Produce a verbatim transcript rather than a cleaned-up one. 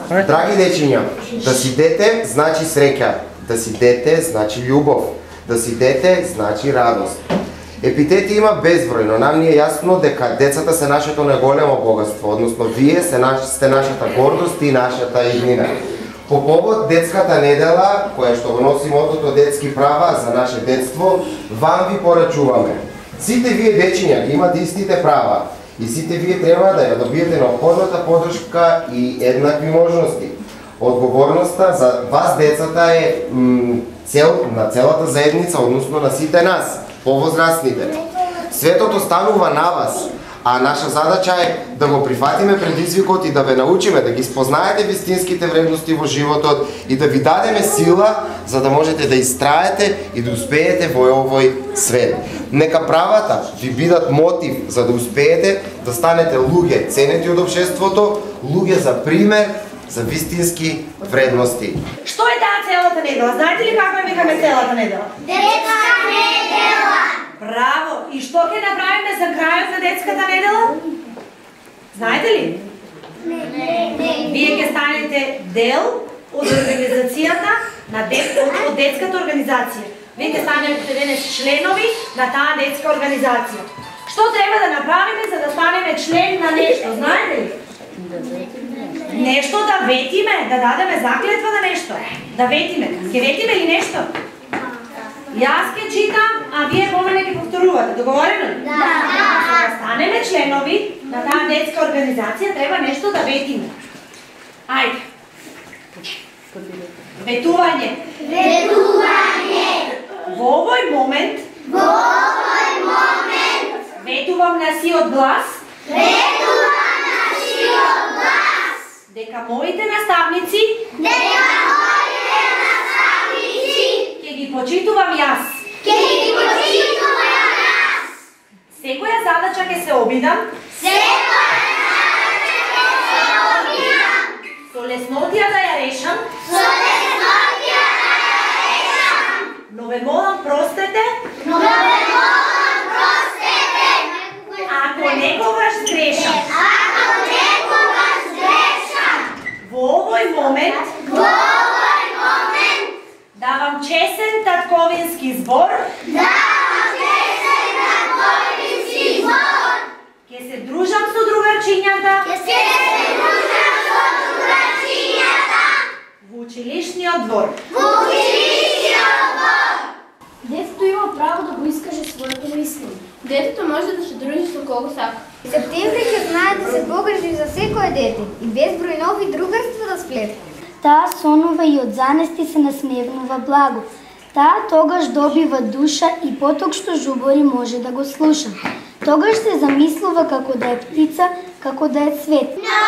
Драги дечиња, да си дете значи среќа, да си дете значи љубов, да си дете значи радост. Епитети има безброј, но нам ни е јасно дека децата се нашето најголемо богатство, односно вие се наш, сте нашата гордост и нашата иднина. По повод детската недела, која што го носи мотото детски права за наше детство, вам ви порачуваме. Сите вие дечиња ги имате истите права и сите вие треба да ја добиете неопходната подршка и еднакви можности. Одговорноста за вас децата е цел на целата заедница, односно на сите нас, повозрастните. Светото станува на вас, а наша задача е да го прифатиме предизвикот и да ве научиме да ги спознаете вистинските вредности во животот и да ви дадеме сила за да можете да истраете и да успеете во овој свет. Нека правата ви бидат мотив за да успеете да станете луѓе ценети од општеството, луѓе за пример за вистински вредности. Што е таа целата недела? Знаете ли како ја викаме целата недела? Детска недела! Браво! И што ќе направиме за крајот на детската недела? Знаете ли? Не, не, не. Вие ќе станете дел од организацијата на дет, од, од детската организација. Вие ќе станете денес членови на таа детска организација. Што треба да направиме за да станеме член на нешто? Знаете ли? Нешто да ветиме, да дадеме заклетва на нешто. Да ветиме. Ќе ветиме ли нешто? Јас ќе читам, а вие помале ќе повторувате. Договорено ли? Да. За да станеме членови на таа детска организација, треба нешто да ветиме. Ајде. Ветување. Ветување. Во овој момент, Во овој момент, ветувам на сиот глас, ветувам на сиот глас, дека моите наставници дека моите наставници ќе ги почитувам јас. ќе ги почитувам јас. Секоја задача ќе се обидам Секоја задача ќе се обидам, со леснотија да ја решам, со леснотија да ја решам, но ве молам простете, но ве молам простете, ако некогаш грешам. ако некогаш грешам. Во овој момент Во овој момент давам чесен татковински збор, давам честен татковински збор. ќе се дружам со другарчињата Ќе се дружам со другарчињата во училишниот двор. во училишниот двор. Детето има право да го искаже своето мислење. Детето може да се дружи со кого сака. Септември ќе знае да се погрижи за секое дете и безброј нови другарства да сплете. Таа сонува и од занести се насмевнува благо. Таа тогаш добива душа и поток што жубори може да го слуша. Тогаш се замислува како да е птица, како да е цвет. На